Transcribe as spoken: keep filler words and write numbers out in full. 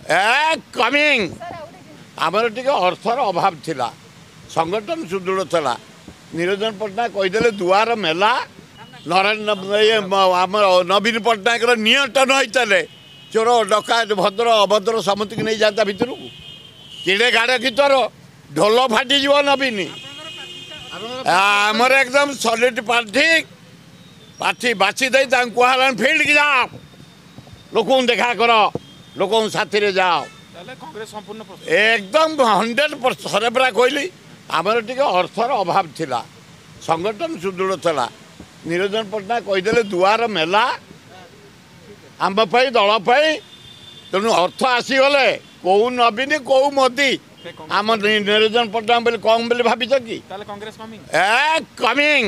ଏ coming. ଆମର ଟିକେ ଅର୍ଥର ଅଭାବ ଥିଲା, ସଂଗଠନ ସୁଦୃଢ଼ ଥିଲା। ନିରଞ୍ଜନ ପଟ୍ଟନାୟକ କହିଦେଲେ ଦୁଆର ମେଲା। ନରେନ୍ଦ୍ର ଇଏ ଆମର ନବୀନ ପଟ୍ଟନାୟକର ନିୟନ୍ତ୍ରଣ ହେଇଥିଲେ ଚୋର ଡକାୟତ ଭଦ୍ର ଅଭଦ୍ର ସମସ୍ତଙ୍କୁ ନେଇଯାଆନ୍ତା ଭିତରକୁ। କିଡ଼େ ଗାଡ଼ କି ତୋର ଢୋଲ ଫାଟିଯିବ ନବୀନ। ଆମର ଏକଦମ ସଲିଡ୍ ପ୍ରାର୍ଥୀ, ପ୍ରାର୍ଥୀ ବାଛି ଦେଇ ତାଙ୍କୁ କୁହାହେଲାଣି ଫିଲ୍ଡକି ଯାଅ, ଲୋକଙ୍କୁ ଦେଖା କର, ଲୋକଙ୍କ ସାଥିରେ ଯାଅ। ତାହେଲେ କଂଗ୍ରେସ ସମ୍ପୂର୍ଣ୍ଣ ପ୍ରସ୍ତୁତ? ଏକଦମ ହଣ୍ଡ୍ରେଡ଼ ପରସେଣ୍ଟ। ଥରେ ପରା କହିଲି, ଆମର ଟିକେ ଅର୍ଥର ଅଭାବ ଥିଲା, ସଂଗଠନ ସୁଦୃଢ଼ ଥିଲା। ନିରଞ୍ଜନ ପଟ୍ଟନାୟକ କହିଦେଲେ ଦୁଆର ମେଲା ଆମ ପାଇଁ, ଦଳ ପାଇଁ। ତେଣୁ ଅର୍ଥ ଆସିଗଲେ କୋଉ ନବୀନ କୋଉ ମୋଦି ଆମ ନିରଞ୍ଜନ ପଟ୍ଟନାୟକ ବୋଲି କମ୍ ବୋଲି ଭାବିଛ କି? ତାହେଲେ କଂଗ୍ରେସ କମିଂ? ଏ କମିଂ।